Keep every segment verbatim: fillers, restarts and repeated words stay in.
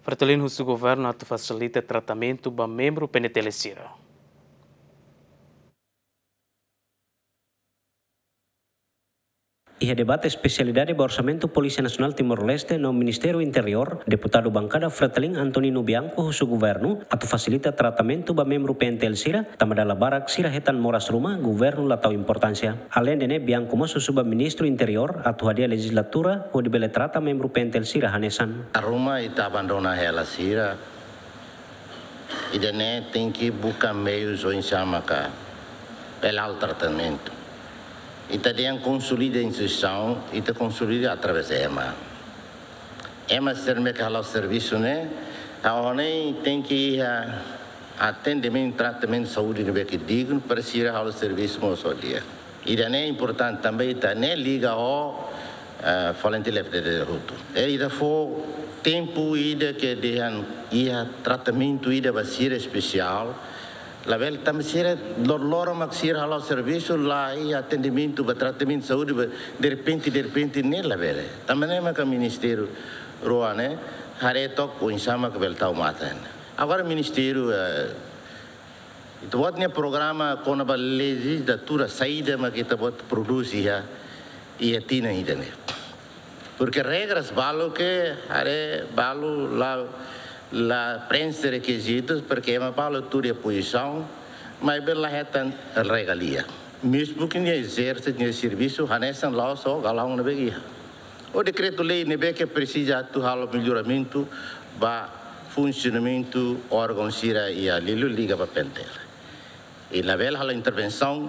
Fretilin husu governu atu fasilita tratamentu ba membru P N T L sira. Iha debate espesialidade ba Orsamentu Polísia Nasionál Timor-Leste no Ministériu Interiór, deputadu bankada Fretilin Antonino Bianco husu governu atu fasilita tratamentu ba membru P N T L sira, tanba dala barak sira hetan moras ruma, governu la tau importánsia. Aleinde ne'e, Bianco mós husu ba Ministru Interiór atu hadi'a lejizlatura hodi bele trata membru P N T L sira hanesan. Ruma ita abandona hela sira, ida-ne'e tenke buka meius oinsá maka bele halo tratamentu. Ita dehan konsolida instituisaun, ita konsolida através ema. Ema sira ne'ebé ke hala'o servisu ne'e, ha'u hanoin tenke iha atendimentu, tratamentu saúde ne'ebé ke dignu para sira halo servisu mós ho di'ak. Ida-ne'e importante tanba ita-nia liga ho, eh, voluntáriu F D D hotu. I ita fó tempu ida ke dehan iha tratamentu ida ba sira espesiál. Labele tanba sira lor-, loron mak sira hala'o servisu la iha atendimentu ba tratamentu saúde ba derrepente, derrepente ne'e labele. Tanba ne'e maka ministériu rua ne'e haree took oinsá maka bele tau matan. Agora ministériu, eh, ita-boot nia programa kona-ba lejizlatura saida maka ita-boot prodús iha, iha tinan ida-ne'e. Porke regras balu ke haree balu la, la prenxe rekizitus, porke ema balu tuur iha pozisaun, maibé la hetan regalia. Mezmu ke nia ezerse nia servisu hanesan la'ós ho gala'on ne'ebé iha. Ho dekretu-lei ne'ebé ke presiza atu halo melloramentu ba funsionamentu órgaun sira iha Lilo liga ba P N T L. I labele halo intervensaun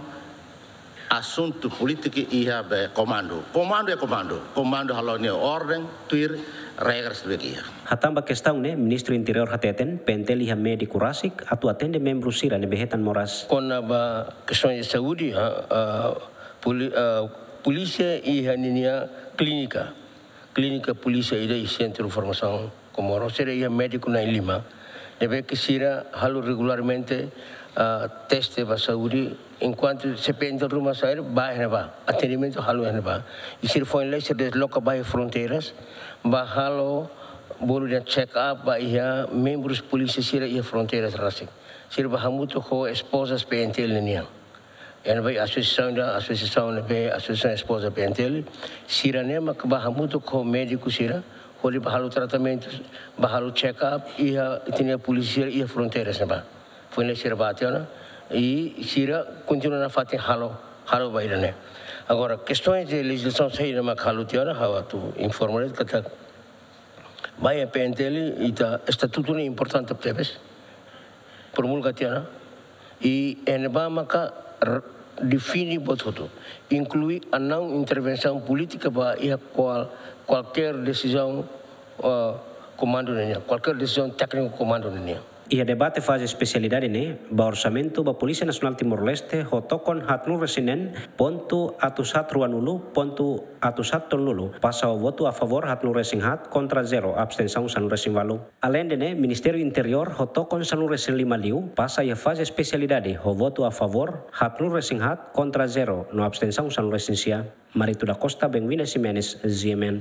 asuntu polítika iha be komandu. Komandu é komandu. Komandu halo nia orden, tuir regras ne'ebé iha. Hatán ba kestaun ne'e, Ministru Interiór hateten, P N T L iha médiku rasik atu atende membru sira ne'ebé hetan moras. Kona-ba kestaun saúde, ha, ah, poli-, ah, polísia iha ninia klínika. Klínika polísia ida iha Sentru Formasaun Comoro, sira iha médiku na'in-lima, ne'ebé ke sira halo regularmente, ah, teste ba saúde, enkuantu se P N T L ruma sa'e, bá iha ne'ebá, atendimentu halo iha ne'ebá. I sira foin lai sira desloka ba iha fronteiras, bá halo bolu dehan check up ba iha membrus polísia sira iha fronteiras rasik. Sira bá hamutuk ho espozas P N T L ninian. Iha ne'ebá asosiasaun ida, asosiasaun ne'ebé, Asosiasaun Espoza P N T L, sira-ne'e maka bá hamutuk ho médiku sira, hodi bá halo tratamentu, bá halo check up, iha ita-nia polísia iha fronteiras ne'ebá. Foin ne'e sira bá tiha ona, i sira kontinua nafatin halo, halo ba ida-ne'e. Agora, kestaun de lejizlasaun saida maka halo tiha ona, ha'u atu informa de'it katak ba iha P N T L ita estatutu ne'e importante tebes. Promulga tiha ona. I iha ne'ebá maka r-, define buat hotu. Inklui a não intervenção política ba iha kual-, kualkér desizaun, eh, komandu ninian, kualkér desizaun tékniku komandu ninian. Iha debate faze espesialidade ne'e, ba orsamentu ba Polísia Nasionál Timor-Leste ho tokon haatnulu-resin-neen pontu atus haat ruanulu pontu atus haat tolunulu, pasa ho votu a favór haatnulu-resin-haat, kontra zero, abstensaun sanulu-resin-ualu. Aleinde ne'e, Ministériu Interiór ho tokon sanulu-resin-lima liu pasa iha faze espesialidade ho votu a favór haatnulu-resin-haat, kontra zero, no abstensaun sanulu-resin-sia. Marito da Costa, Benvinda Ximenes, G M N.